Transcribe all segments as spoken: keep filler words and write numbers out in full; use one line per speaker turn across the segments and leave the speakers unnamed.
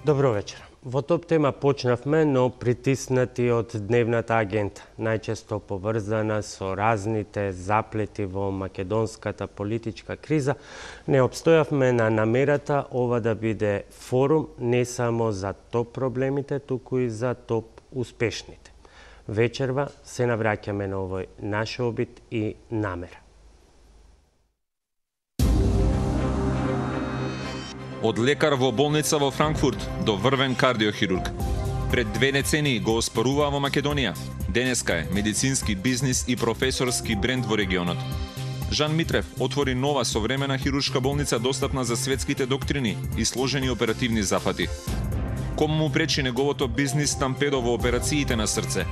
Добро вечер. Во топ тема почнавме, но притиснати од дневната агента, најчесто поврзана со разните заплети во македонската политичка криза, не обстојавме на намерата ова да биде форум не само за топ проблемите, туку и за топ успешните. Вечерва се навраќаме на овој наш обид и намера.
Од лекар во болница во Франкфурт до врвен кардиохирург. Пред две децении го оспоруваа во Македонија. Денеска е медицински бизнис и професорски бренд во регионот. Жан Митрев отвори нова современа хируршка болница достапна за светските доктрини и сложени оперативни запати. Кому му пречи неговото бизнис стампедо во операциите на срце?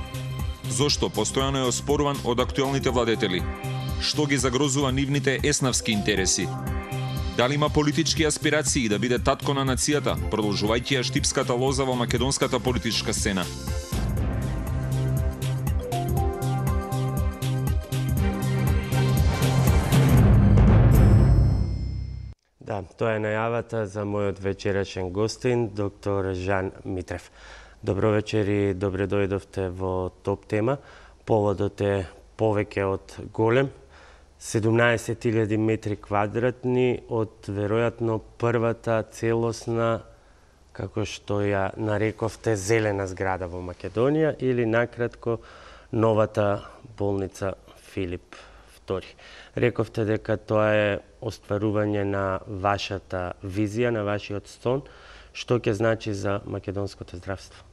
Зошто постојано е оспоруван од актуелните владетели? Што ги загрозува нивните еснавски интереси? Дали има политички аспирации да биде татко на нацијата, продолжувајќи ја штипската лоза во македонската политичка сцена?
Да, тоа е најавата за мојот вечерашен гостин, доктор Жан Митрев. Добро вечер и добре дојдовте во топ тема. Поводот е повеќе од голем. седумнаесет илјади метри квадратни од веројатно првата целосна, како што ја нарековте, зелена зграда во Македонија или накратко новата болница Филип втори. Рековте дека тоа е остварување на вашата визија, на вашиот сон. Што ќе значи за македонското здравство?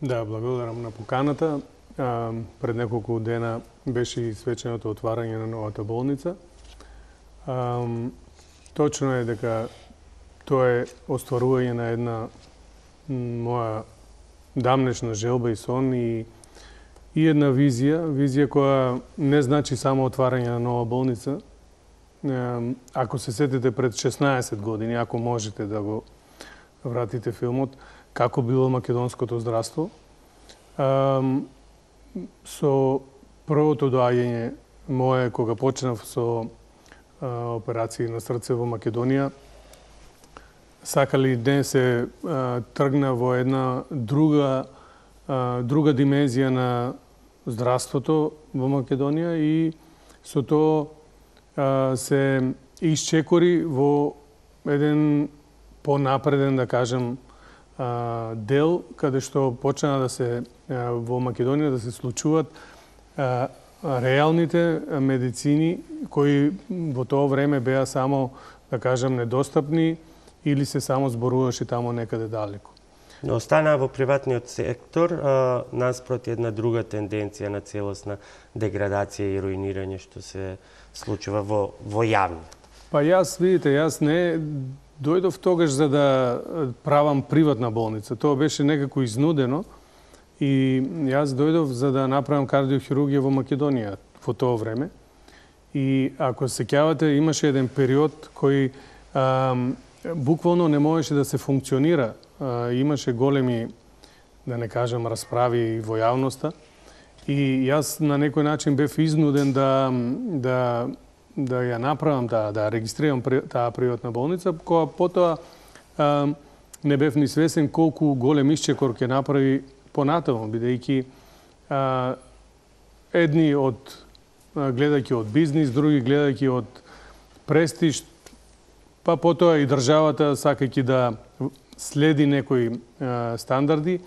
Да, благодарам на поканата. А, пред неколку дена беше и свеченото отварање на новата болница. А, точно е дека тоа е остварување на една моја дамнешна желба и сон и, и една визија, визија која не значи само отварање на нова болница. А, ако се сетите пред шеснаесет години, ако можете да го вратите филмот, како било македонското здравство, а, со првото доаѓање мое, кога почнав со а, операции на срце во Македонија, сакали не се а, тргна во една друга а, друга димензија на здравството во Македонија и со тоа а, се исчекори во еден понапреден, да кажем, дел каде што почна да се во Македонија да се случуваат реалните медицини кои во тоа време беа само, да кажем, недостапни или се само зборуваше тамо некаде далеко.
Но останаа во приватниот сектор а, наспроти една друга тенденција на целосна деградација и руинирање што се случува во во јавно.
Па јас, видите, јас не дојдов тогаш за да правам приватна болница. Тоа беше некако изнудено и јас дојдов за да направам кардиохирургија во Македонија во тоа време. И ако се сеќавате, имаше еден период кој а, буквално не можеше да се функционира. А, имаше големи, да не кажам, расправи во јавноста. И јас на некој начин бев изнуден да да да ја направам, да, да регистрирам таа приватна болница, која потоа а, не бев ни свесен колку голем исчекор ќе направи понатаму, бидејќи а, едни од гледајќи од бизнис, други гледајќи од престиж, па потоа и државата сакајќи да следи некои а, стандарди,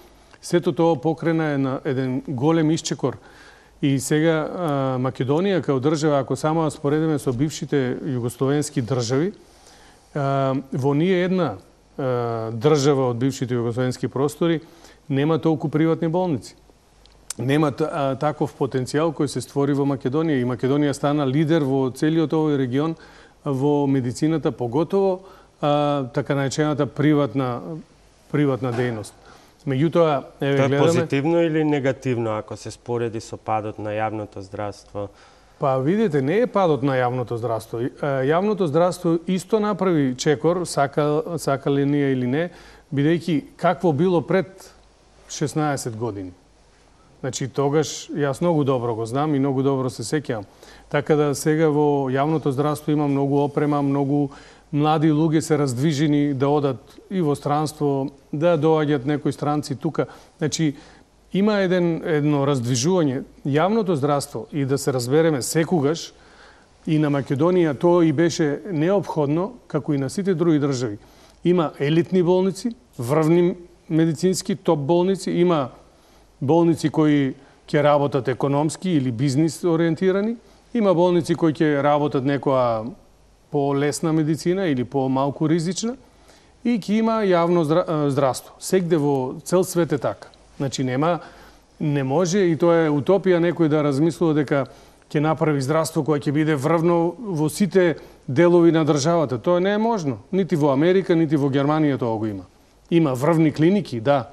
сето тоа покрена на еден голем исчекор. И сега а, Македонија као држава, ако само ја споредиме со бившите југословенски држави, а, во ние една а, држава од бившите југословенски простори нема толку приватни болници. Нема а, таков потенцијал кој се створи во Македонија и Македонија стана лидер во целиот овој регион во медицината, поготово а, така наречената приватна приватна дејност. Меѓутоа, еве
Тоа е
гледаме
позитивно или негативно ако се спореди со падот на јавното здравство?
Па видите, не е падот на јавното здравство. Јавното здравство исто направи чекор, сака, сакали ние или не, бидејќи какво било пред шеснаесет години. Значи, тогаш јас многу добро го знам и многу добро се сеќавам. Така да сега во јавното здравство има многу опрема, многу млади луѓе се раздвижени да одат и во странство, да доаѓат некои странци тука. Значи, има еден, едно раздвижување. Јавното здравство, и да се разбереме секогаш, и на Македонија тоа и беше неопходно, како и на сите други држави. Има елитни болници, врвни медицински топ болници, има болници кои ќе работат економски или бизнис ориентирани, има болници кои ќе работат некоја по-лесна медицина или по-малку ризична, и ќе има јавно здравство. Сегде во цел свет е така. Значи нема, не може, и тоа е утопија некој да размислува дека ќе направи здравство кое ќе биде врвно во сите делови на државата. Тоа не е можно. Нити во Америка, нити во Германија тоа го има. Има врвни клиники, да.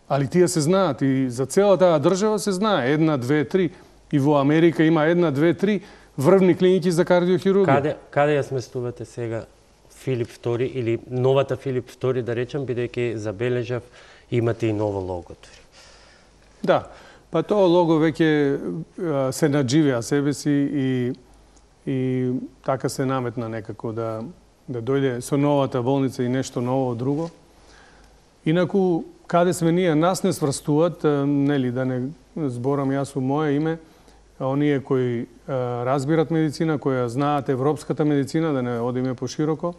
Али тие се знаат и за цела таа држава се знае. Една, две, три. И во Америка има една, две, три врвни клиники за кардиохирургија.
Каде, каде ја сместувате сега Филип втори или новата Филип втори, да речем, бидејќи забележав, имате и ново лого.
Да, па тоа лого веќе се надживеа себе си и, и така се наметна некако да, да дојде со новата болница и нешто ново друго. Инаку, каде сме ние, нас не сврстуваат, нели, да не зборам јас во моје име, оние кои а, разбират медицина, кои знаат европската медицина, да не одиме пошироко,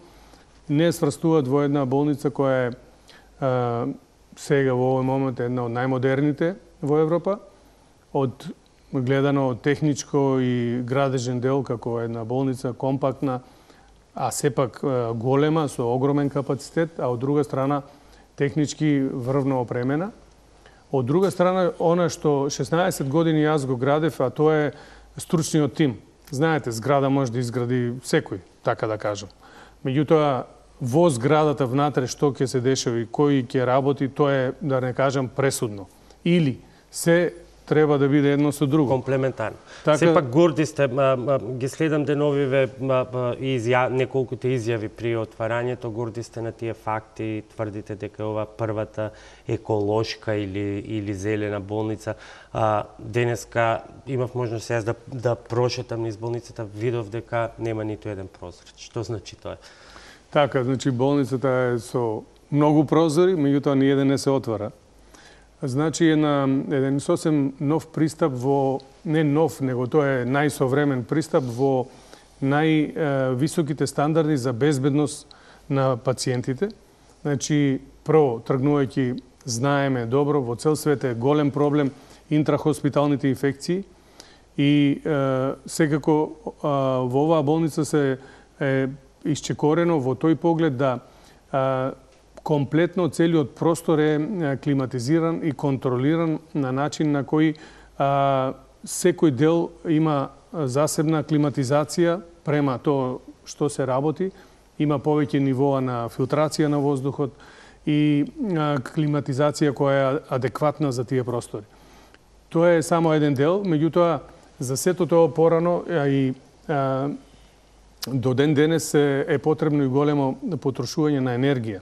не сврстуваат во една болница која е а, сега во овој момент една од најмодерните во Европа, од гледано од техничко и градежен дел како една болница компактна, а сепак голема со огромен капацитет, а од друга страна технички врвно опремена. Од друга страна, она што шеснаесет години јас го градев, а тоа е стручниот тим. Знаете, зграда може да изгради секој, така да кажам. Меѓутоа, во зградата внатре што ќе се дешава и кој ќе работи, тоа е, да не кажам, пресудно. Или се треба да биде едно со друго.
Комплементарно.
Така...
Сепак горди сте, а, а, ги следам деновиве изја, неколкуте изјави при отварањето, горди сте на тие факти, тврдите дека ова првата еколошка или, или зелена болница. А, денеска имав можност јас да, да прошетам низ болницата, видов дека нема ниту еден прозор. Што значи тоа?
Така, значи болницата е со многу прозори, меѓутоа ни еден не се отвара. Значи е на еден сосем нов пристап во, не нов, него тоа е најсовремен пристап во највисоките стандарди за безбедност на пациентите. Значи, прво, тргнувајќи, знаеме добро, во цел свет е голем проблем интрахоспиталните инфекции и е, секако е, во оваа болница се е исчекорено во тој поглед да е, комплетно целиот простор е климатизиран и контролиран на начин на кој а, секој дел има засебна климатизација према тоа што се работи, има повеќе нивоа на филтрација на воздухот и а, климатизација која е адекватна за тие простори. Тоа е само еден дел, меѓутоа за сето тоа порано а, и а, до ден денес е, е потребно и големо потрошување на енергија.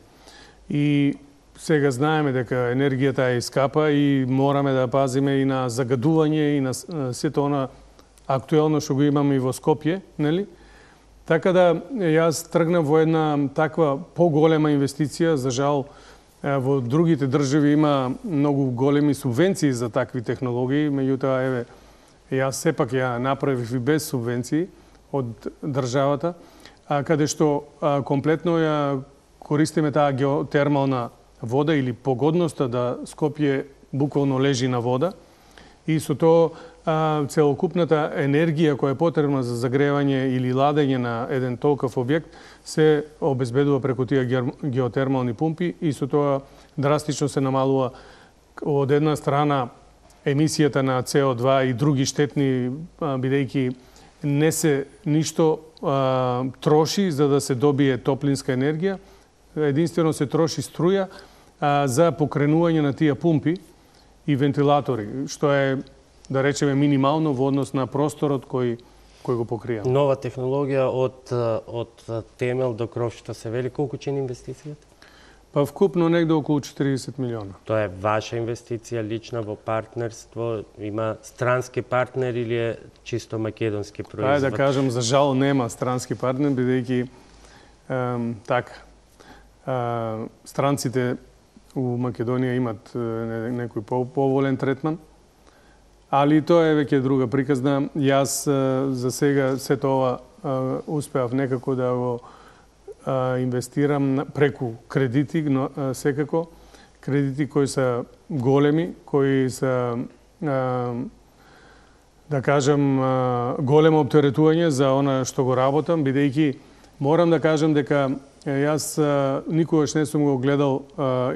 И сега знаеме дека енергијата е скапа и мораме да пазиме и на загадување и на сето она актуелно што го имаме и во Скопје, нели? Така да јас тргнав во една таква поголема инвестиција, за жал во другите држави има многу големи субвенции за такви технологии, меѓутоа еве јас сепак ја направив и без субвенции од државата, а каде што а, комплетно ја користиме таа геотермална вода или погодноста да Скопје буквално лежи на вода и со тоа а, целокупната енергија која е потребна за загревање или ладење на еден толков објект се обезбедува преку тие геотермални пумпи и со тоа драстично се намалува од една страна емисијата на С О два и други штетни, бидејќи не се ништо а, троши за да се добие топлинска енергија, единствено се троши струја а, за покренување на тие пумпи и вентилатори, што е, да речеме, минимално во однос на просторот кој, кој го покрија.
Нова технологија од, од темел до кров, што се вели, колку чини инвестицијата?
Па вкупно негде околу четиридесет милиона.
Тоа е ваша инвестиција лична во партнерство, има странски партнер или е чисто македонски производ?
Ајде да кажам, за жал нема странски партнер, бидејќи така, странците у Македонија имат некој поволен третман, али тоа е веќе друга приказна. Јас за сега сето ова успеав некако да го инвестирам преку кредити, но секако кредити кои се големи, кои се да кажам големо оптеретување за она што го работам, бидејќи морам да кажам дека јас никогаш не сум го гледал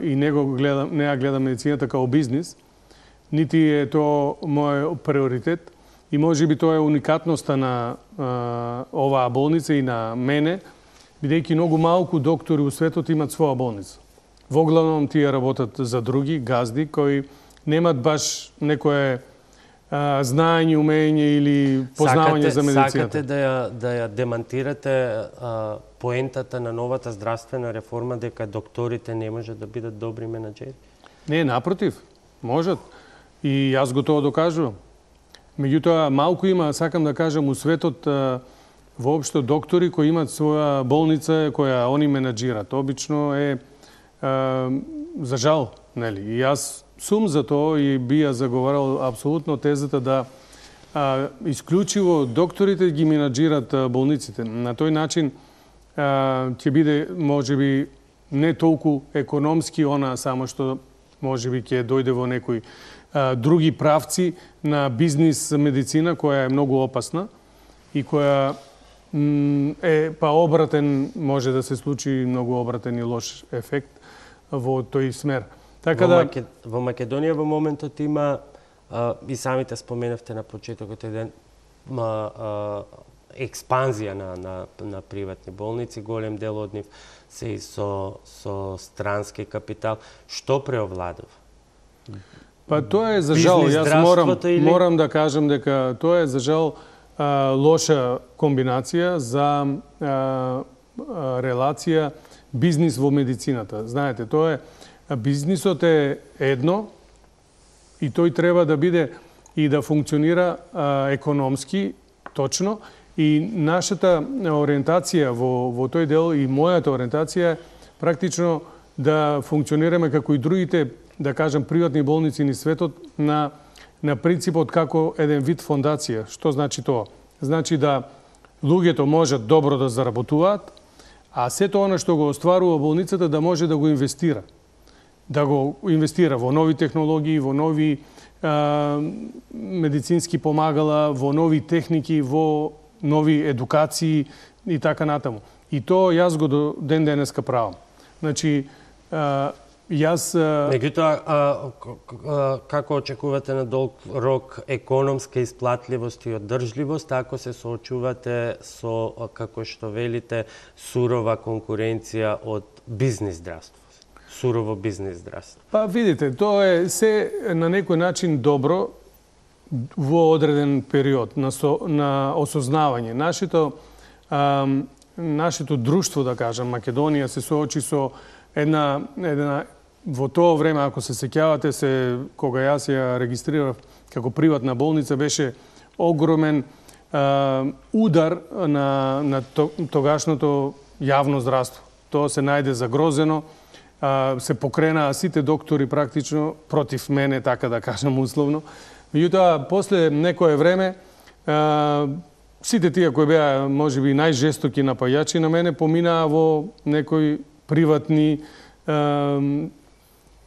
и не го гледам, не ја гледам медицината као бизнис, нити е тоа мој приоритет и можеби тоа е уникатноста на оваа болница и на мене, бидејќи многу малку доктори у светот имат своја болница. Во главном тие работат за други газди кои немат баш некое а, знаење, умење или познавање
сакате,
за медицината.
Сакате да ја, да ја демантирате а, поентата на новата здравствена реформа дека докторите не можат да бидат добри менаџери?
Не, напротив, можат. И јас го тоа докажувам. Меѓутоа, малку има, сакам да кажам, у светот а, воопшто доктори кои имат своја болница која они менаџират. Обично е а, за жал, нели? И јас сум за тоа и би ја заговарал апсолутно тезата да а, исклучиво докторите ги менаџират а, болниците. На тој начин а, ќе биде можеби не толку економски она само што можеби ќе дојде во некои а, други правци на бизнис медицина која е многу опасна и која е па обратен, може да се случи многу обратен и лош ефект во тој смер. Така
во,
да
Маке... во Македонија во моментот има а, и самите споменавте на почетокот еден а, а, експанзија на, на, на приватни болници, голем дел од нив се и со, со странски капитал. Што преовладува?
Па тоа е за жал, јас морам,
или...
морам да кажам дека тоа е за жал а, лоша комбинација за а, а, релација бизнис во медицината. Знаете, тоа е бизнисот е едно и тој треба да биде и да функционира а, економски точно и нашата ориентација во, во тој дел и мојата ориентација е практично да функционираме како и другите, да кажам, приватни болници ни светот на, на принципот како еден вид фондација. Што значи тоа? Значи да луѓето можат добро да заработуваат, а сето она што го остварува болницата да може да го инвестира. Да го инвестира во нови технологии, во нови а, медицински помагала, во нови техники, во нови едукации и така натаму. И тоа јас го до ден денеска правам. Значи, а, јас...
Меѓутоа, како очекувате на долг рок економска исплатливост и одржливост, ако се соочувате со, како што велите, сурова конкуренција од бизнис здравство? Сурово бизнис здравство.
Па видите, тоа е се на некој начин добро во одреден период на, со, на осознавање. Нашето, а, нашето друштво, да кажам, Македонија се соочи со една, една во тоа време, ако се сеќавате се, кога јас ја регистрирав како приватна болница, беше огромен а, удар на, на тогашното јавно здравство. Тоа се најде загрозено, а, се покренаа сите доктори практично против мене, така да кажам условно. Меѓутоа, после некое време, а, сите тие кои беа можеби најжестоки напајачи на мене поминаа во некои приватни а,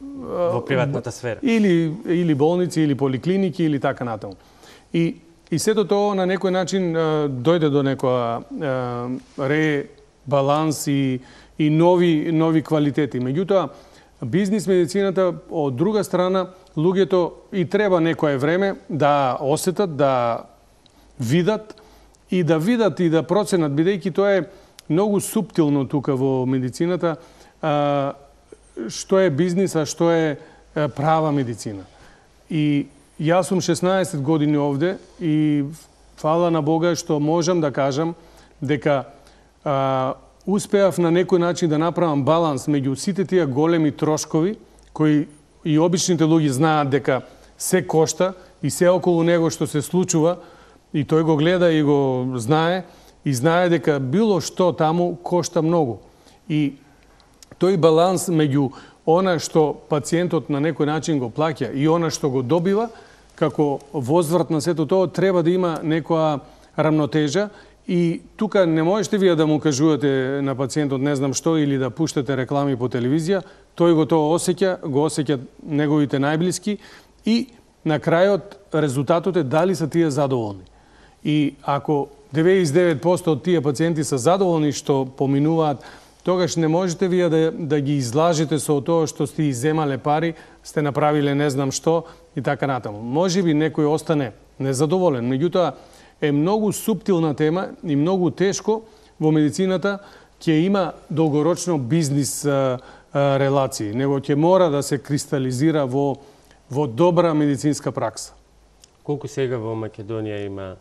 во приватната сфера.
Или, или болници, или поликлиники, или така натаму. И, и сето тоа на некој начин а, дојде до некоја ребаланс и, и нови, нови квалитети. Меѓутоа, бизнис медицината, од друга страна, луѓето и треба некое време да осетат, да видат и да видат и да проценат, бидејќи тоа е многу суптилно тука во медицината, а, што е бизнис, а што е права медицина. И јас сум шеснаесет години овде и фала на Бога што можам да кажам дека а, успеав на некој начин да направам баланс меѓу сите тие големи трошкови кои и обичните луѓе знаат дека се кошта и се околу него што се случува и тој го гледа и го знае и знае дека било што таму кошта многу. И тој баланс меѓу она што пациентот на некој начин го плаќа и она што го добива, како возврат на сето тоа, треба да има некоја рамнотежа. И тука не можете вие да му кажувате на пациентот не знам што или да пуштате реклами по телевизија, тој го тоа осеќа, го осеќат неговите најблиски и на крајот резултатот е дали се тие задоволни. И ако деветдесет и девет проценти од тие пациенти се задоволни што поминуваат, тогаш не можете вие да, да ги излажите со тоа што сте иземале пари, сте направиле не знам што и така натаму. Може би некој остане незадоволен, меѓутоа е многу суптилна тема и многу тешко во медицината ќе има долгорочно бизнис а, а, релации, него ќе мора да се кристализира во, во добра медицинска пракса.
Колку сега во Македонија има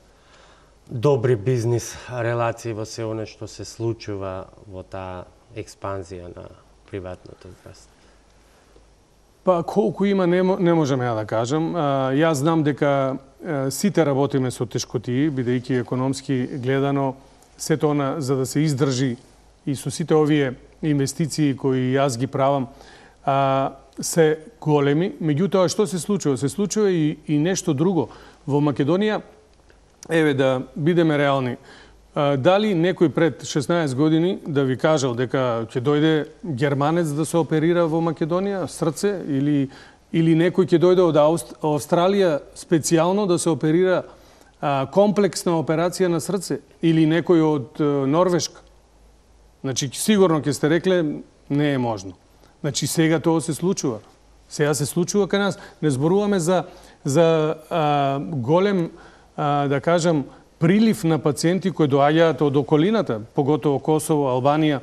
добри бизнис релации во се оно што се случува во таа експанзија на приватното здравство?
Па колку има не, не можам ја да кажам. А, јас знам дека а, сите работиме со тешкотии, бидејќи економски гледано сето она за да се издржи и со сите овие инвестиции кои јас ги правам а, се големи. Меѓутоа што се случува? Се случува и, и нешто друго. Во Македонија, еве да бидеме реални, а, дали некој пред шеснаесет години да ви кажал дека ќе дојде германец да се оперира во Македонија срце или или некој ќе дојде од Ауст... Австралија специјално да се оперира а, комплексна операција на срце или некој од а, Норвешка? Значи сигурно ќе сте рекле не е можно. Значи сега тоа се случува. Сега се случува кај нас. Не зборуваме за за а, голем а, да кажам прилив на пациенти кои доаѓаат од околината, поготово Косово, Албанија.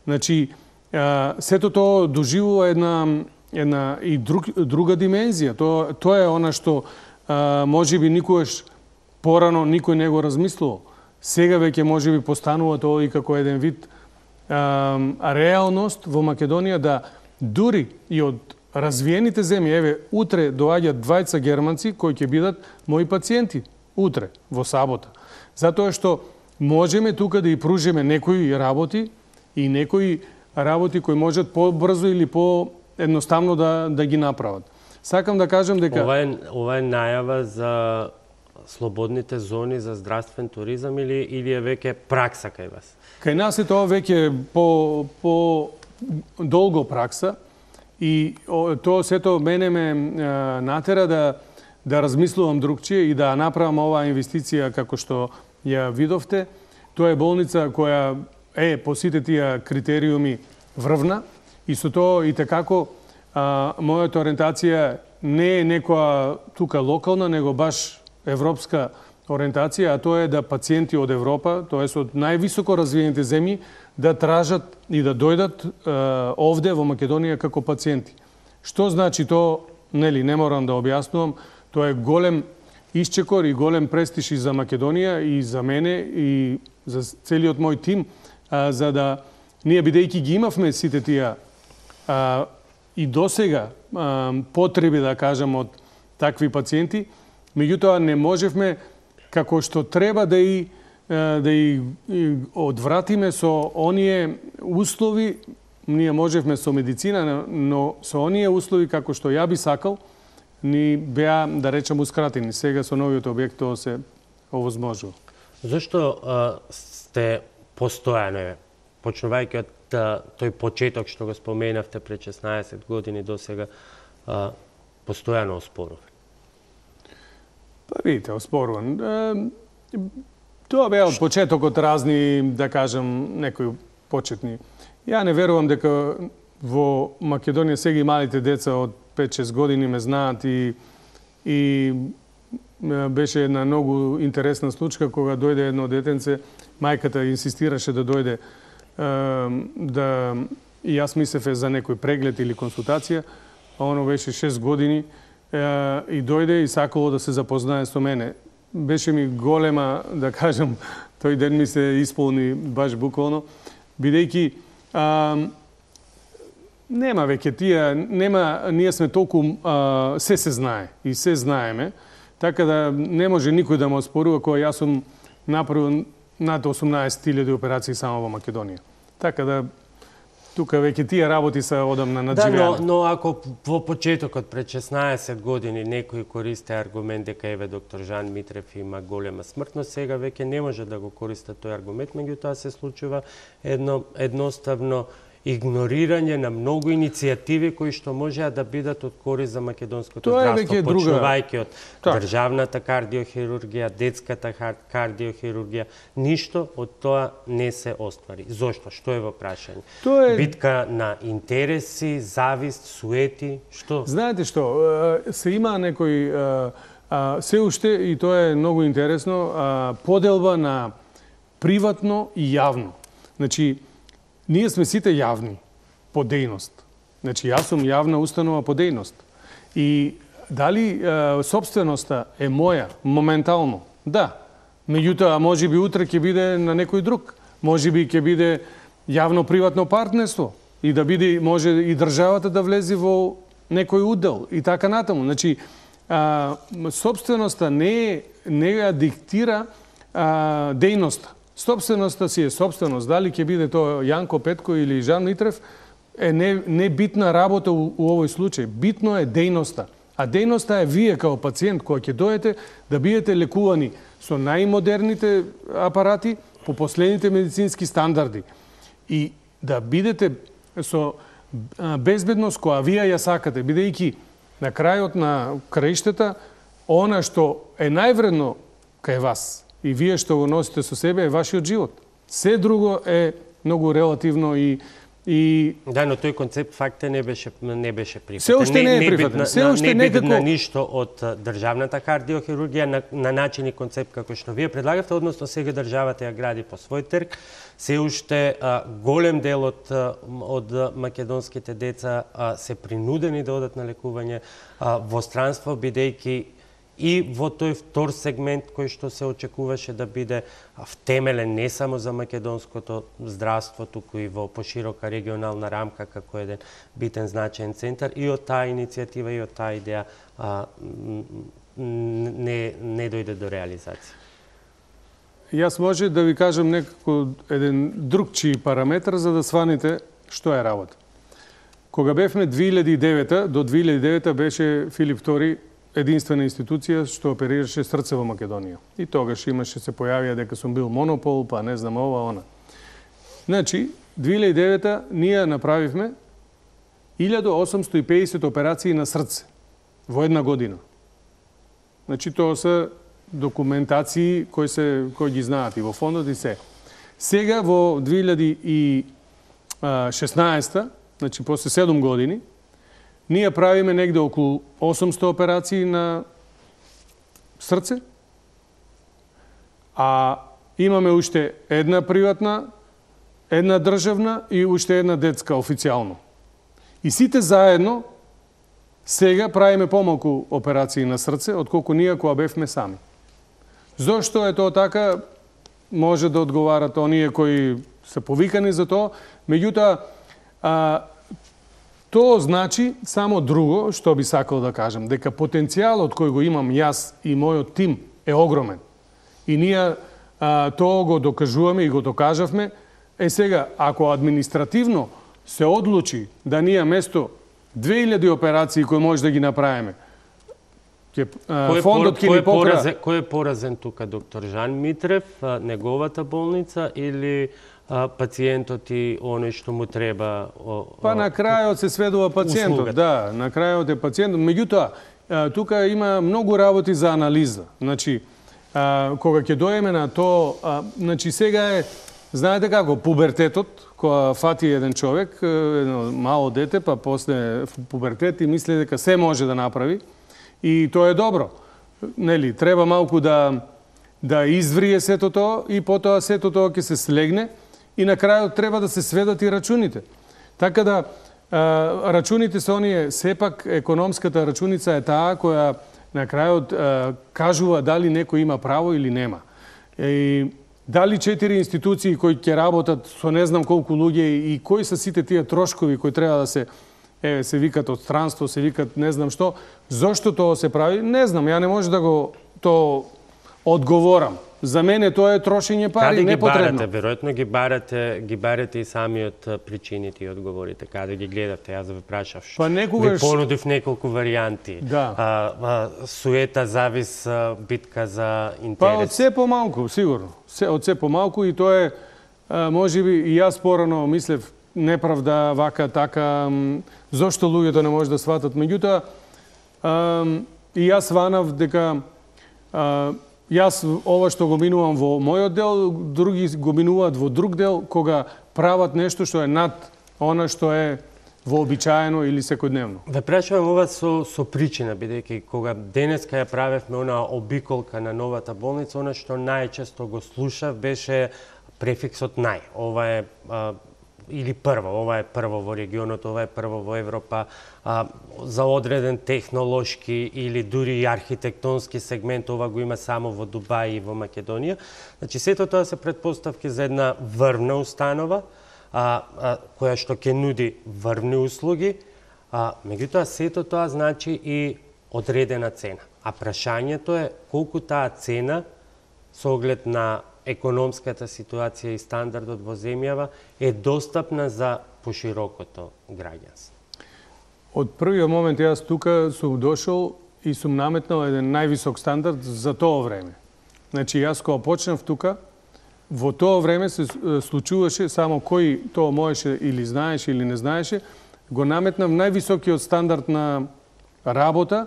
Значи, а, сето тоа доживува една, една и друг, друга димензија. Тоа, тоа е она што а, може би никогаш порано никој не го размислувал. Сега веќе може би постанува тоа и како еден вид а, реалност во Македонија да дури и од развиените земји, еве, утре доаѓаат двајца германци кои ќе бидат мои пациенти. Утре, во сабота. Затоа што можеме тука да и пружиме некои работи и некои работи кои можат по-брзо или по-едноставно да, да ги направат. Сакам да кажам дека...
Ова е, ова е најава за слободните зони за здравствен туризам или, или е веќе пракса кај вас?
Кај нас е тоа веќе по, по долго пракса и тоа сето мене ме натера да да размислувам другчие и да направам оваа инвестиција како што ја видовте. Тоа е болница која е по сите тие критериуми врвна и со тоа и tekako мојата ориентација не е некоја тука локална, него баш европска ориентација, а тоа е да пациенти од Европа, тоест од највисоко развиените земји, да тражат и да дојдат е, овде во Македонија како пациенти. Што значи тоа, нели, не морам да објаснувам. Тоа е голем исчекор и голем престиж и за Македонија и за мене и за целиот мој тим, а, за да ние бидејќи ги имавме сите тие а, и досега а, потреби да кажам од такви пациенти, меѓутоа не можевме како што треба да и да и, и одвратиме со оние услови, ние можевме со медицина, но со оние услови како што ја би сакал, ни беа, да речем, ускратени. Сега со новиот објект тоа се овозможува.
Зошто а, сте постојано, почнувајќи од а, тој почеток што го споменавте пред шеснаесет години до сега, а, постојано оспоруван?
Па видите, оспоруван. Е, тоа беа од почетокот разни, да кажам, некои почетни. Ја не верувам дека во Македонија сега и малите деца од пет-шест години ме знаат и, и беше една многу интересна случка кога дојде едно детенце, мајката инсистираше да дојде да и јас мислев за некој преглед или консултација, а оно беше шест години и дојде и сакало да се запознае со мене. Беше ми голема, да кажам, тој ден ми се исполни баш буквално, бидејќи нема веќе тие, нема, ние сме толку, а, се се знае и се знаеме, така да не може никој да ме оспорува кога јас сум направил над осумнаесет илјади операции само во Македонија. Така да тука веќе тие работи се одамна надживеани.
Да, но, но ако во почетокот пред шеснаесет години некој користи аргумент дека еве доктор Жан Митрев има голема смртност, сега веќе не може да го користи тој аргумент, меѓутоа се случува едно едноставно игнорирање на многу иницијативи кои што можеа да бидат од корист за македонското здравство, почнувајќи од
так.
државната кардиохирургија, детската кардиохирургија. Ништо од тоа не се оствари. Зошто? Што е во прашање?
Тоа е...
Битка на интереси, завист, суети, што?
Знаете што, се има некој се уште, и тоа е многу интересно, поделба на приватно и јавно. Значи, ние сме сите јавни по дејност. Значи, јас сум јавна установа по дејност. И дали е, собственоста е моја моментално? Да. Меѓутоа, може би утре ќе биде на некој друг. Може би ќе биде јавно-приватно партнерство и да биде, може и државата да влезе во некој удел и така натаму. Значи, а, собственоста не, не ја диктира а, дејноста. Собственоста си е собственост. Дали ќе биде тоа Јанко Петко или Жан Митрев, е не, не битна работа у, у овој случај. Битно е дејноста. А дејноста е вие као пациент кој ќе дојдете да бидете лекувани со најмодерните апарати по последните медицински стандарди. И да бидете со безбедност која вие ја сакате, бидејќи на крајот на краиштата, она што е највредно кај вас и вие што го носите со себе е вашиот живот. Се друго е многу релативно и и
да, но тој концепт факте не беше не беше прифатен.
Се уште не е прифатен. Се уште
не
некако
на ништо од државната кардиохирургија на, на начин и концепт како што вие предлагавте, односно сега државата ја гради по свој трг. Се уште а, голем дел од од македонските деца а, се принудени да одат на лекување а, во странство, бидејќи и во тој втор сегмент кој што се очекуваше да биде втемелен не само за македонското здравство, туку и во поширока регионална рамка како еден битен значаен центар, и од таа иницијатива и од таа идеја а, не, не дојде до реализација.
Јас може да ви кажам некако еден другчи параметар за да сваните што е работа. Кога бевме две илјади и девета, до две илјади и девета беше Филип втори единствена институција што оперираше срце во Македонија. И тогаш имаше, се појавија дека сум бил монопол, па не знам ова, она. Значи, две илјади и девета ние направивме илјада осумстотини и педесет операции на срце во една година. Значи, тоа се документации кои се кои ги знаат и во фондот и се. Сега во две илјади и шеснаесета, значи после седум години, ние правиме негде околу осумстотини операции на срце, а имаме уште една приватна, една државна и уште една детска официјално. И сите заедно сега правиме помалку операции на срце, отколку ние кога бевме сами. Зошто е тоа така? Може да одговарат оние кои се повикани за тоа, меѓутоа, а, тоа значи само друго, што би сакал да кажам, дека потенцијалот кој го имам јас и мојот тим е огромен. И ние а, тоа го докажуваме и го докажавме. Е сега, ако административно се одлучи да ние место две илјади операции кои може да ги направиме, ќе фондот ќе ни покра...
Кој е поразен тука, доктор Жан Митрев, неговата болница или а, пациентот и оној што му треба? О,
па на крајот се сведува пациентот, услугата. Да, на крајот е пациентот. Меѓутоа, тука има многу работи за анализа. Значи, а, кога ќе доеме на то, а, значи сега е, знаете како, пубертетот, кога фати еден човек, едно мало дете, па после пубертет и мисли дека се може да направи, и тоа е добро. Нели, треба малку да да изврие сето тоа и потоа сето тоа ќе се слегне и на крајот треба да се сведат и рачуните. Така да а, рачуните се оние, сепак економската рачуница е таа која на крајот а, кажува дали некој има право или нема. И дали четири институции кои ќе работат со не знам колку луѓе и кои се сите тие трошкови кои треба да се еве се викат од странство, се викат не знам што, зошто тоа се прави, не знам, ја не може да го то одговорам. за мене тоа е трошење пари,
Каде
непотребно.
Каде ги барате? Веројатно ги барате, ги барате и самиот причините и одговорите. Каде ги гледавте? Јас да ве прашав.
Па некогаш...
Ви понудив неколку варијанти.
Да.
А, а, суета, завис, битка за интерес.
Па од се помалку, сигурно. Се, од се помалку и тоа е, а, можеби и јас порано мислев неправда, вака, така, м, зошто луѓето не може да сватат. Меѓутоа, а, и јас сванав дека а, јас ова што го минувам во мојот дел, други го минуваат во друг дел, кога прават нешто што е над она што е вообичаено или секојдневно.
Ве прашувам ова со, со причина, бидејќи кога денеска ја правевме она обиколка на новата болница, она што најчесто го слушав беше префиксот нај. Ова е а, или прво, ова е прво во регионот, ова е прво во Европа, а, за одреден технолошки или дури и архитектонски сегмент, ова го има само во Дубај и во Македонија. Значи, сето тоа се претпоставки за една врвна установа, а, а, која што ќе нуди врвни услуги, а, меѓутоа сето тоа значи и одредена цена. А прашањето е колку таа цена со оглед на економската ситуација и стандардот во земјава е достапна за поширокото граѓанство.
Од првиот момент јас тука сум дошол и сум наметнал еден највисок стандард за тоа време. Значи јас кога почнав тука, во тоа време се случуваше само кој тоа можеше или знаеше или не знаеше, го наметнав највисокиот стандард на работа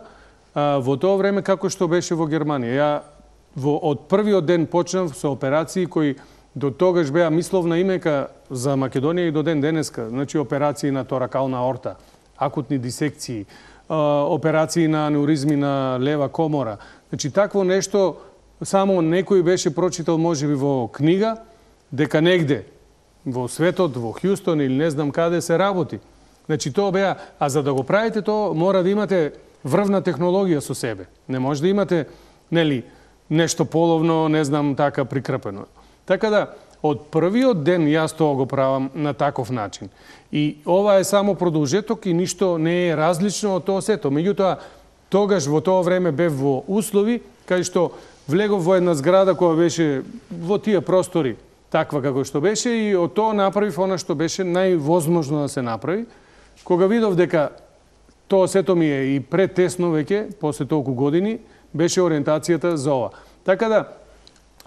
а, во тоа време како што беше во Германија. Ја во од првиот ден почнав со операции кои до тогаш беа мисловна имека за Македонија и до ден денеска. Значи операции на торакална аорта, акутни дисекции, операции на анеуризми на лева комора. Значи такво нешто само некој беше прочитал можеби во книга, дека негде во светот, во Хјустон или не знам каде се работи. Значи тоа беа, а за да го правите тоа мора да имате врвна технологија со себе. Не може да имате, нели, нешто половно, не знам, така прикрпено. Така да, од првиот ден јас тоа го правам на таков начин. И ова е само продолжеток и ништо не е различно од тоа сето. Меѓутоа, тогаш во тоа време бев во услови, кај што влегов во една зграда која беше во тие простори, таква како што беше, и од тоа направив она што беше највозможно да се направи. Кога видов дека тоа сето ми е и претесно веќе, после толку години, беше ориентацијата за ова. Така да,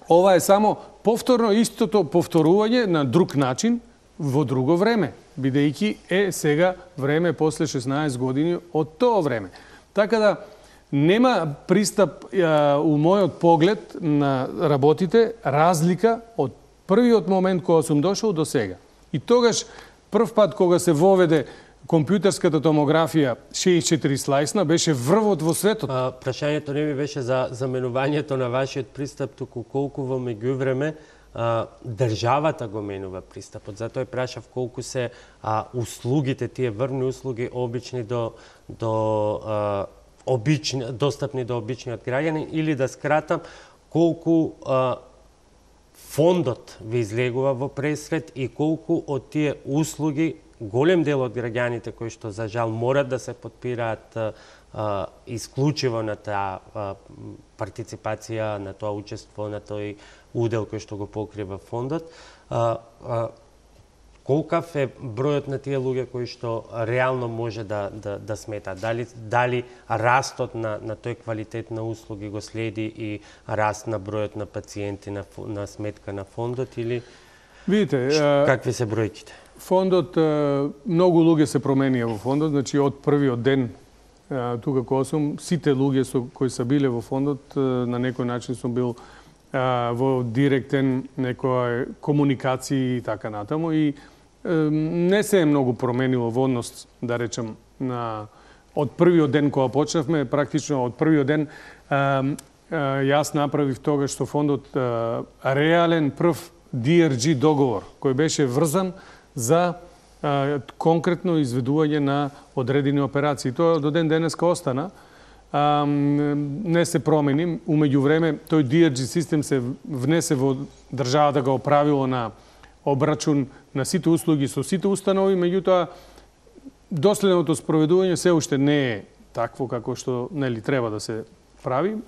ова е само повторно истото повторување на друг начин во друго време, бидејќи е сега време после шеснаесет години од тоа време. Така да, нема пристап а, у мојот поглед на работите разлика од првиот момент кога сум дошол до сега. И тогаш, прв пат кога се воведе компјутерската томографија шеесет и четири слајсна, беше врвот во светот.
А, прашањето не ми беше за заменувањето на вашиот пристап, туку колку во меѓувреме а, државата го менува пристапот. Затоа прашав колку се а, услугите, тие врвни услуги обични до, до а, обични, достапни до обичниот граѓанин, или да скратам, колку а, фондот ви излегува во пресред и колку од тие услуги голем дел од граѓаните кои што за жал морат да се потпираат а, исклучиво на таа а, партиципација, на тоа учество, на тој удел кој што го покрива фондот. А, а, колкав е бројот на тие луѓе кои што реално може да, да, да смета? Дали, дали растот на, на тој квалитет на услуги го следи и раст на бројот на пациенти на, на сметка на фондот, или
Видите,
какви се бројките?
Фондот, многу луѓе се променија во фондот, значи од првиот ден тука кога сум, сите луѓе со кои се биле во фондот, на некој начин сум бил во директен некоја комуникација и така натаму, и не се е многу променило во однос, да речем, на од првиот ден кога почнавме, практично од првиот ден јас направив тогаш со фондот реален прв Ди Ар Джи договор, кој беше врзан за а, конкретно изведување на одредени операции. Тоа до ден денеска остана. А, не се промени. Умеѓу време, тој Ди Ар Джи систем се внесе во државата, го оправило на обрачун на сите услуги со сите установи, меѓутоа доследното спроведување се уште не е такво како што, нели, треба да се прави.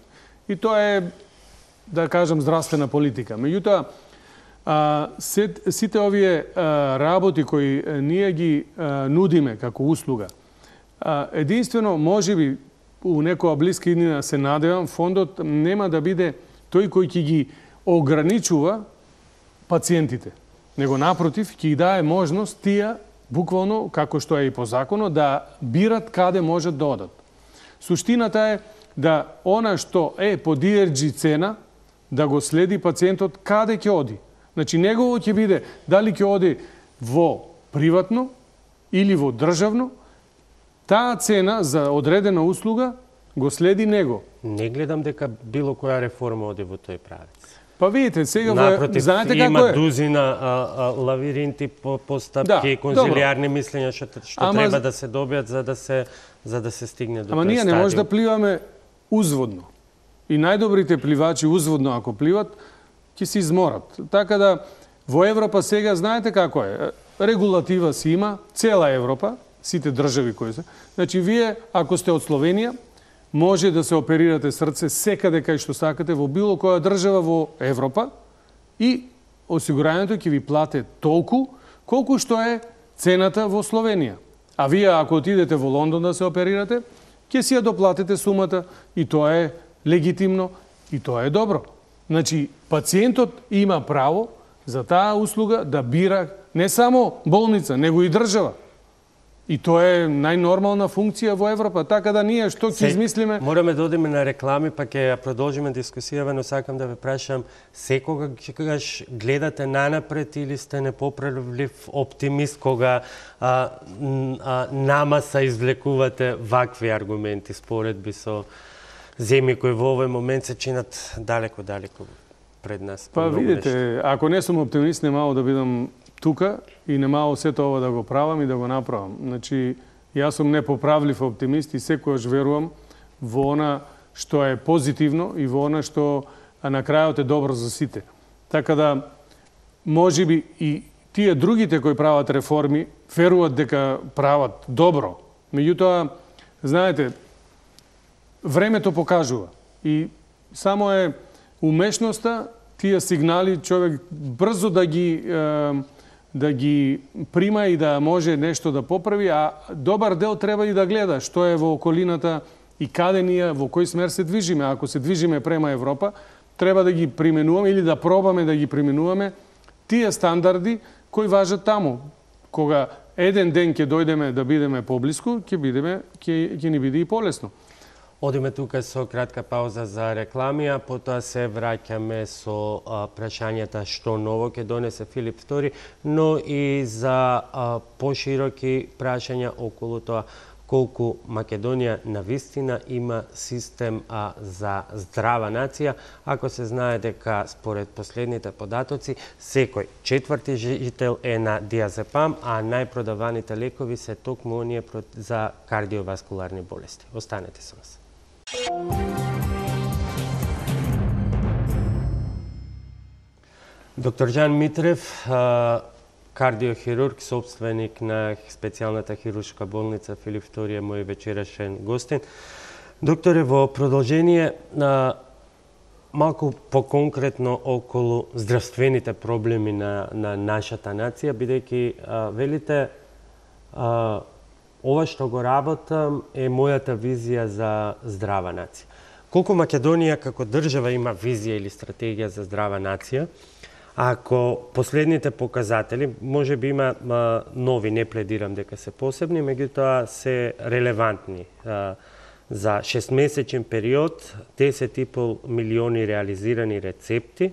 И тоа е да кажам, здравствена политика. Меѓутоа, а, сите овие а, работи кои а, ние ги а, нудиме како услуга, а, единствено, може би, у некоја блиска иднина се надевам, фондот нема да биде тој кој ќе ги ограничува пациентите, него напротив, ќе ги дае можност тие, буквално, како што е и по законот, да бират каде можат да одат. Суштината е да она што е по ди ар джи цена, да го следи пациентот каде ќе оди. Значи, негово ќе биде дали ќе оди во приватно или во државно, таа цена за одредена услуга го следи него.
Не гледам дека било која реформа оди во тој правец.
Па видите, сега
Напротив,
знаете
има
како е?
дузина а, а, лавиринти по постапки,
Да,
конзилиарни мислења што, што
Ама-
треба да се добијат за да се за да се стигне до
Ама
тој
ние не
стадиум.
може да пливаме узводно. И најдобрите пливачи узводно, ако пливат, ќе се изморат. Така да, во Европа сега, знаете како е? Регулатива си има, цела Европа, сите држави кои се. Значи, вие, ако сте од Словенија, може да се оперирате срце секаде кај што сакате во било која држава во Европа и осигурањето ќе ви плате толку колку што е цената во Словенија. А вие, ако отидете во Лондон да се оперирате, ќе си ја доплатите сумата и тоа е легитимно и тоа е добро. Значи, пациентот има право за таа услуга да бира не само болница, него и држава. И тоа е најнормална функција во Европа, така да ние што ќе измислиме...
Мораме да одиме на реклами, па ќе ја продолжиме дискусијава, но сакам да ве прашам, секогаш гледате нанапред или сте непоправлив оптимист кога а, а, нама се извлекувате вакви аргументи, споредби со земји кои во овој момент се чинат далеко-далеко пред нас?
Па видите, ако не сум оптимист, не мало да бидам тука и не мало сето ова да го правам и да го направам. Значи, јас сум непоправлив оптимист и секојаш верувам во она што е позитивно и во она што на крајот е добро за сите. Така да, може би и тие другите кои прават реформи веруваат дека прават добро. Меѓутоа, знаете, времето покажува и само е умешноста тие сигнали човек брзо да ги да ги прима и да може нешто да поправи, а добар дел треба и да гледа што е во околината и каде ние, во кој смер се движиме. Ако се движиме према Европа, треба да ги применуваме или да пробаме да ги применуваме тие стандарди кои важат таму. Кога еден ден ќе дојдеме да бидеме поблиску, ќе бидеме ќе ќе ни биде и полесно.
Одиме тука со кратка пауза за реклами, а потоа се враќаме со а, прашањата што ново ќе донесе Филип втори, но и за а, пошироки прашања околу тоа колку Македонија навистина има систем а, за здрава нација. Ако се знае дека според последните податоци секој четврти жител е на диазепам, а најпродаваните лекови се токму оние за кардиоваскуларни болести. Останете со нас. Доктор Жан Митрев, кардиохирург, собственик на специјалната хируршка болница Филип втори, мој вечерашен гостин. Докторе, во продолжение на малку поконкретно околу здравствените проблеми на, на нашата нација, бидејќи велите а, ова што го работам е мојата визија за здрава нација. Колку Македонија како држава има визија или стратегија за здрава нација? Ако последните показатели, може би има а, нови, не пледирам дека се посебни, меѓутоа се релевантни. А, за шестмесечен период десет и пол милиони реализирани рецепти,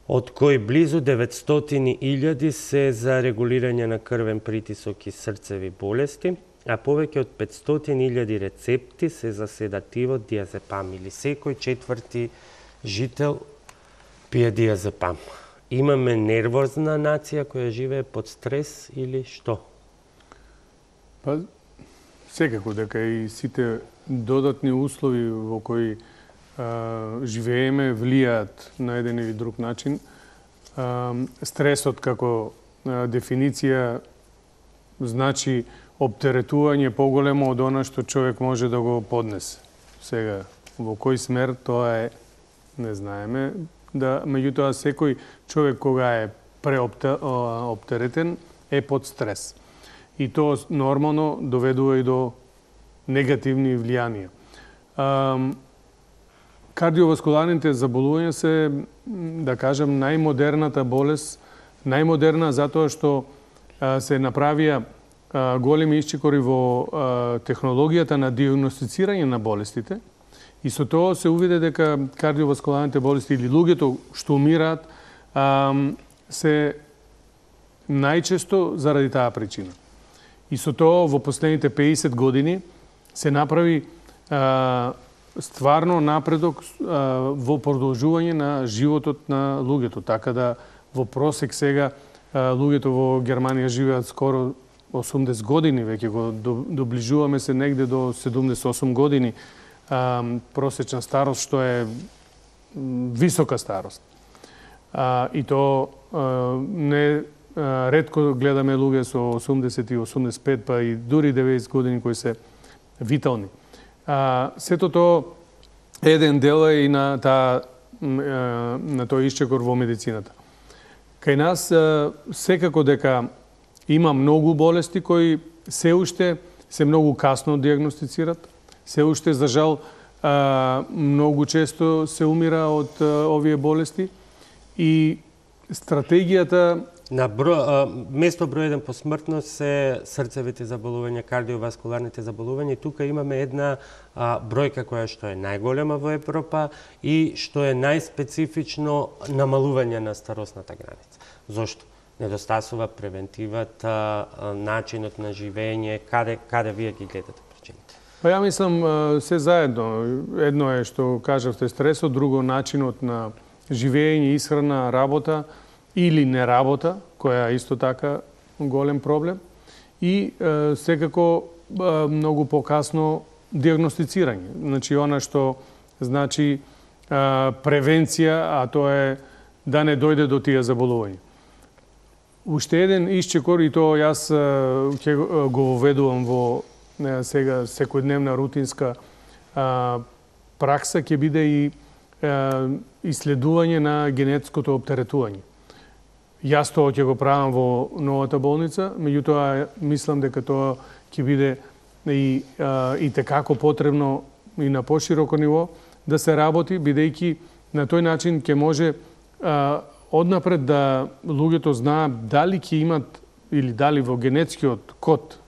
од кои близу деветстотини илјади се за регулирање на крвен притисок и срцеви болести, а повеќе од петстотини илјади рецепти се за седативот диазепам, или секој четврти жител пие диазепам. Имаме нервозна нација која живее под стрес или што?
Па, секако дека и сите додатни услови во кои а, живееме влијаат на еден или друг начин. А, стресот како а, дефиниција значи оптеретување поголемо од она што човек може да го поднесе. Сега, во кој смер, тоа е не знаеме, да меѓутоа секој човек кога е преоптеретен е под стрес. И тоа нормално доведува и до негативни влијанија. Кардиоваскуларните заболувања се, да кажем, најмодерната болест, најмодерна затоа што се направија големи исчекори во технологијата на диагностицирање на болестите и со тоа се увиде дека кардиоваскуларните болести или луѓето што умираат се најчесто заради таа причина. И со тоа во последните пеесет години се направи а, стварно напредок а, во продолжување на животот на луѓето. Така да во просек сега а, луѓето во Германија живеат скоро осумдесет години, веќе го доближуваме се негде до седумдесет и осум години а, просечна старост, што е висока старост. А, и то а, не а, ретко гледаме луѓе со осумдесет и осумдесет и пет, па и дури деветдесет години кои се витални. А, сето тоа еден дел е и на таа на тој исчекор во медицината. Кај нас секако дека има многу болести кои се уште се многу касно диагностицират, се уште за жал многу често се умира од овие болести и стратегијата
на бро, а, место број еден по смртност се срцевите заболувања, кардиоваскуларните заболувања. И тука имаме една а, бројка која што е најголема во Европа и што е најспецифично намалување на старосната граница. Зошто? Недостасува превентивата, начинот на живење, каде каде вие ги гледате причините?
Па ја мислам се заедно. Едно е што кажавте стресот, друго начинот на живење, исхрана, работа или не работа, која е исто така голем проблем, и е, секако е, многу покасно диагностицирање. Значи, она што значи е, превенција, а тоа е да не дојде до тие заболувања. Уште еден исчекор, и тоа јас ќе го воведувам во е, сега секојдневна рутинска е, пракса, ќе биде и е, исследување на генетското оптеретување. Јас тоа ќе го правам во новата болница, меѓутоа мислам дека тоа ќе биде и, а, и текако потребно и на пошироко ниво да се работи, бидејќи на тој начин ќе може а, однапред да луѓето знаат дали ќе имат или дали во генетскиот код,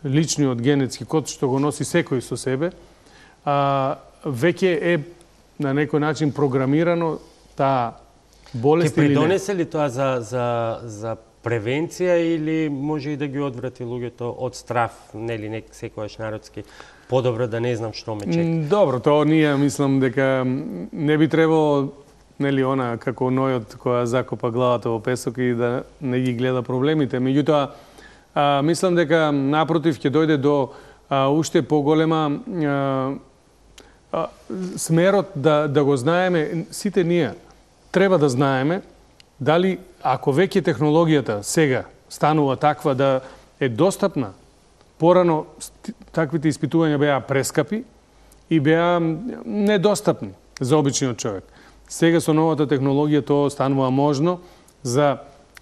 личниот генетски код што го носи секој со себе, а, веќе е на некој начин програмирано таа болест или не. Ке
придонесе ли тоа за, за, за превенција или може и да ги одврати луѓето од страф, нели не секојаш народски, подобро да не знам што ме чека?
Добро, тоа ние мислам дека не би требало, нели она како нојот која закопа главата во песок и да не ги гледа проблемите. Меѓутоа, а, мислам дека напротив ќе дојде до а, уште поголема а, а, смерот да, да го знаеме сите ние. Треба да знаеме дали, ако веќе технологијата сега станува таква да е достапна, порано таквите испитувања беа прескапи и беа недостапни за обичниот човек. Сега со новата технологија тоа станува можно за